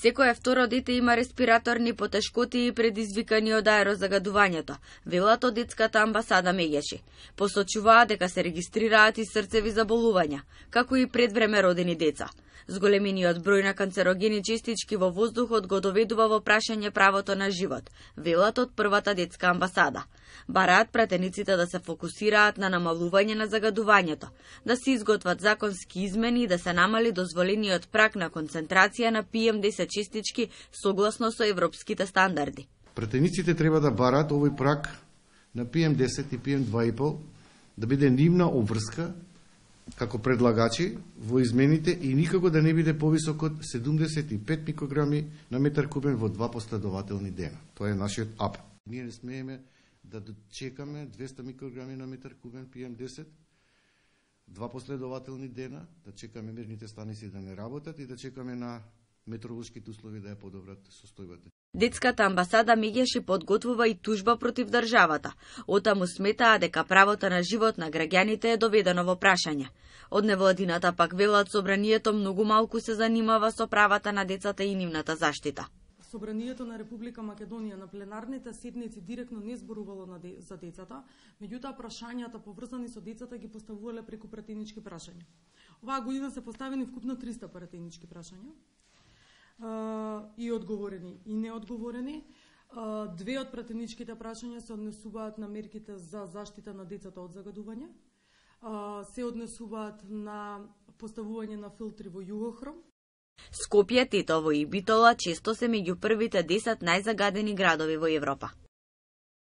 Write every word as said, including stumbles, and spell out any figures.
Секое второ дете има респираторни потешкоти предизвикани од аерозагадувањето, велат од детската амбасада Меѓеши. Посочуваат дека се регистрираат и срцеви заболувања, како и предвреме родени деца. Зголемениот број на канцерогени честички во воздухот го доведува во прашање правото на живот, велат од првата детска амбасада. Бараат пратениците да се фокусираат на намалување на загадувањето, да се изготват законски измени и да се намали дозволениот праг на концентрација на пи ем десет честички согласно со европските стандарди. Пратениците треба да бараат овој праг на пи ем десет и пи ем два и пол да биде нивна обврска како предлагачи во измените и никако да не биде повисок од седумдесет и пет микрограми на метар кубен во два последователни дена. Тоа е нашиот апел. Ние не смееме да чекаме двесте микрограми на метар кубен пи ем десет, два последователни дена, да чекаме мерните станици да не работат и да чекаме на метеоролошките услови да ја подобрат состојбата. Детската амбасада Меѓеши подготвува и тужба против државата. Отаму сметаа дека правото на живот на граѓаните е доведено во прашање. Од невладината пак велат собранието многу малку се занимава со правата на децата и нивната заштита. Собранието на Република Македонија на пленарните седници директно не зборувало на де, за децата, меѓутоа прашањата поврзани со децата ги поставувале преку пратенички прашања. Оваа година се поставени вкупно триста пратенички прашања и одговорени и неодговорени. Две од пратеничките прашања се однесуваат на мерките за заштита на децата од загадување, се однесуваат на поставување на филтри во Југохром. Скопје, Тетово и Битола често се меѓу првите десет најзагадени градови во Европа.